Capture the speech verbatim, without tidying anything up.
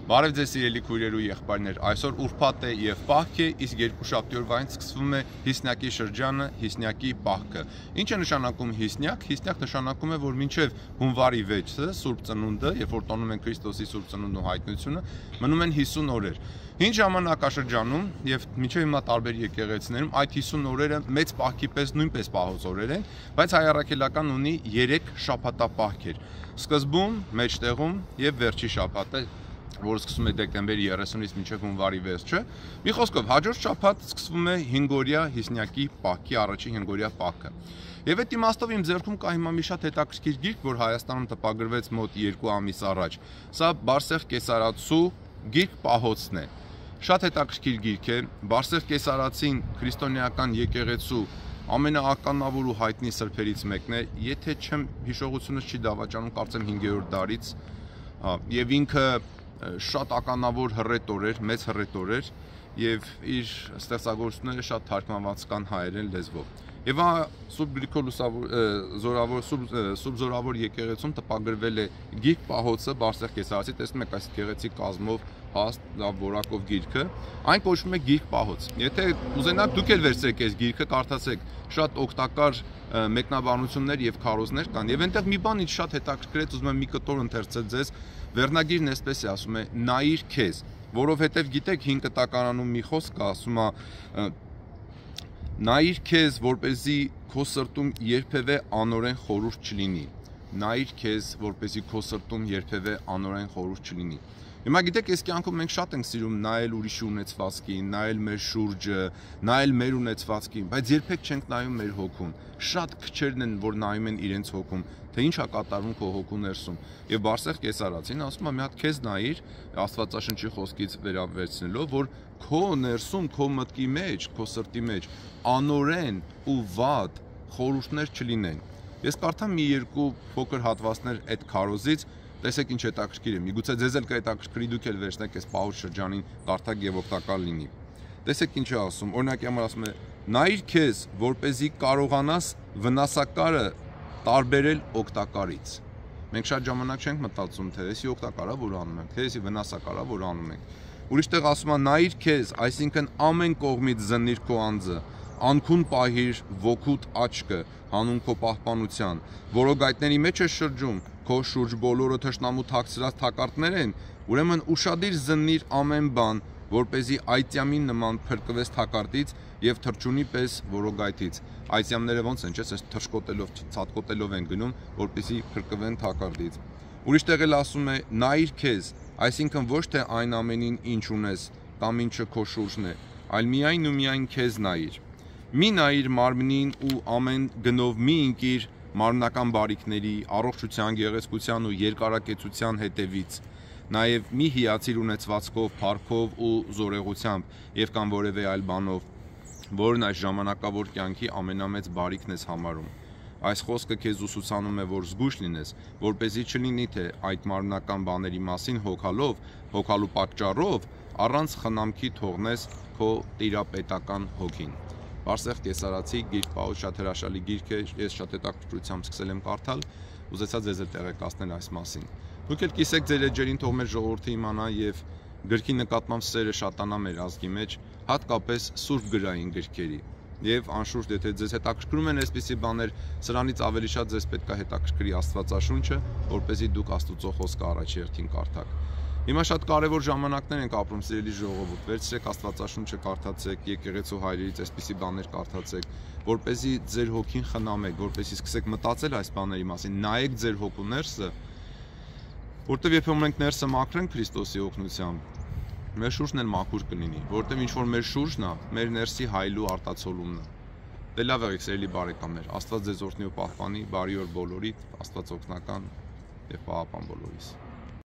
Բարև ձեզ սիրելի քույրեր ու եղբայրներ, այսօր ուրբաթ է եւ պահք է, իսկ երկուշաբթի օրվանից սկսվում է հիսնյակի շրջանը, հիսնյակի պահքը։ Ինչ է նշանակում հիսնյակ? Հիսնյակ նշանակում է, որ մինչև հունվարի վեցը, Սուրբ Ծնունդը, երբ որ տոնում են Քրիստոսի Սուրբ Ծնունդն ու հայտնությունը, մնում են հիսուն օրեր։ Ինչ ժամանակաշրջանում եւ մինչև հիմա տարբեր եկեղեցիներում այդ հիսուն օրերը մեծ պահքի պես նույնպես պահոց օրեր են, բայց հայ առաքելական ունի երեք շաբաթապահքեր։ Սկզբում, մեջտեղում եւ վերջի շաբաթը, որը սկսվում է դեկտեմբերի երեսունից մինչև հունվարի վերջը։ Մի խոսքով, հաջորդ շաբաթ սկսվում է հինգօրյա հիսնյակի պահքի առաջին հինգօրյա պահքը։ Եվ այդ իմաստով իմ ձեռքում կա հիմա մի շատ հետաքրքիր գիրք, որ Հայաստանում տպագրվեց մոտ երկու ամիս առաջ։ Սա Բարսեղ Կեսարացու գիրք պահոցն է։ Շատ հետաքրքիր գիրք է։ Բարսեղ Կեսարացին քրիստոնեական եկեղեցու ամենաականավոր ու հայտնի սրբերից մեկն է, եթե չեմ հիշողությունս չի դավաճանում, կարծեմ հինգերորդ դարից, եւ ինքը շատ ականավոր հռետոր էր, մեծ հռետոր էր եւ իր ստեղծագործությունները շատ թարգմանված կան հայերեն լեզվով։ Եվ Սուրբ Գրիգոր Լուսավոր Սուրբ Զորավոր եկեղեցում տպագրվել է գիրք պահոցը Բարսեղ Կեսարացի, տեսնում եք այս գեղեցիկ կազմով հաստ լավ որակով գիրքը, այն կոչվում է գիրք պահոց։ Եթե ուզենաք դուք էլ վերցրեք այս գիրքը, կարդացեք, շատ օգտակար մեկնաբանություններ եւ քարոզներ կան։ Եվ այնտեղ մի բան ինձ շատ հետաքրքրեց, ուզում եմ մի կտոր ընթերցել ձեզ, վերնագիրն այսպես է ասում է՝ նայիր քեզ, որովհետեւ գիտեք հին կտակարանում մի խոսք կա, ասում է նայիր քեզ, որպեսզի քո սրտում երբևէ անօրեն խորհուրդ չլինի։ Նայիր քեզ, որպեսզի քո սրտում երբևէ անօրեն խորհուրդ չլինի։ Հիմա գիտեք, այս կյանքում մենք շատ ենք սիրում նայել ուրիշի ունեցվածքին, նայել մեր շուրջը, նայել մեր ունեցվածքին, բայց երբեք չենք նայում մեր հոգուն։ Շատ քչերն են, որ նայում են իրենց հոգում, թե ինչ է կատարվում քո հոգու ներսում։ Եվ Բարսեղ Կեսարացին ասում է՝ մի հատ քեզ նայիր, Աստվածաշնչի խոսքից վերաբերցնելով, որ քո ներսում, քո մտքի մեջ, քո սրտի մեջ անօրեն ու վատ խորհուրդներ չլինեն։ Ես կարդամ մի երկու փոքր հատվածներ այդ քարոզից, տեսեք ինչ հետաքրքիր է։ Միգուցե ձեզ էլ կհետաքրքրի, դուք էլ վերցնեք այս պահոց շրջանին, կարդաք եւ օգտակար լինի։ Տեսեք ինչ է ասում։ Օրինակի համար ասում է. նայիր քեզ, որպեսզի կարողանաս վնասակարը տարբերել օգտակարից։ Մենք շատ ժամանակ չենք մտածում, թե էսի օգտակարա որ անում ենք, թե էսի վնասակարա որ անում ենք։ Ուրիշտեղ ասում է նայիր քեզ, այսինքն ամեն կողմից զննիր քո անձը, անքուն պահիր ոգուտ աչքը, հանուն քո պահպանության, որոգայթների մեջ է շրջում, քո շուրջ բոլորը թշնամու թաքցրած թակարդներ են, ուրեմն ուշադիր զննիր ամեն բան, որպեսզի այծյամին նման փրկվես թակարդից եւ թրջունի պես որոգայթից։ Այծյամները ոնց են, չէ՞, այս թշկոտելով, ցածկոտելով են գնում, որպեսզի փրկվեն թակարդից։ Ուրիշտեղ էլ ասում է նայիր քեզ, այսինքն ոչ թե այն ամենին, ինչ ունես, կամ ինչը քո շուրջն է, այլ միայն ու միայն քեզ նայիր։ Մի նայիր մարմնին ու ամեն գնով մի ընկիր մարմնական բարիքների, առողջության, գեղեցկության ու երկարակեցության հետևից։ Նաև մի հիացիր ունեցվածքով, փառքով ու զորեղությամբ եւ կամ որևէ այլ բանով, որն այս ժամանակավոր կյանքի ամենամեծ բարիքն ես համարում։ Այս խոսքը քեզ ուսուցանում է, որ զգույշ լինես, որպեսզի չլինի թե այդ մարմնական բաների մասին հոգալով, հոգալու պատճառով առանց խնամքի թողնես քո տիրապետական հոգին։ Բարսեղ Կեսարացի գիրք պահոց շատ հրաշալի գիրք է, ես շատ հետաքրքրությամբ սկսել եմ կարդալ, ուզեցա ձեզ էլ տեղեկացնել այս մասին։ Դուք էլ կիսեք ձեր էջերին, թող մեր ժողովուրդը իմանա եւ գրքի նկատմամբ սերը շատանա մեր ազգի մեջ, հատկապես սուրբ գրային գրքերի։ Եվ անշուշտ, եթե ձեզ հետաքրքրում են այսպիսի բաներ, սրանից ավելի շատ ձեզ պետք է հետաքրքրի Աստվածաշունչը, որպեսզի դուք Աստծո խոսքը առաջ երթին կարդաք։ Հիմա շատ կարևոր ժամանակներ ենք ապրում, սիրելի ժողովուրդ, վերցրեք Աստվածաշունչը կարդացեք, եկեղեցու հայրերից այսպիսի բաներ կարդացեք, որպեսզի ձեր հոգին խնամեք, որպեսզի սկսեք մտածել այս բաների մասին, նայեք ձեր հոգու ներսը, որտեվ երբեմն մենք ներսը մաքրենք Քրիստոսի օգնությամբ, մեր շուրջն էլ մաքուր կլինի, որտեվ ինչ որ մեր շուրջն է, մեր ներսի հայլու արտացոլումն է։ Դե լավ եղեք, սիրելի բարեկամներ, Աստված ձեզ օրհնի ու պահպանի, բարի օր բոլորիդ, Աստված օգնական եւ պահապան բոլորիս։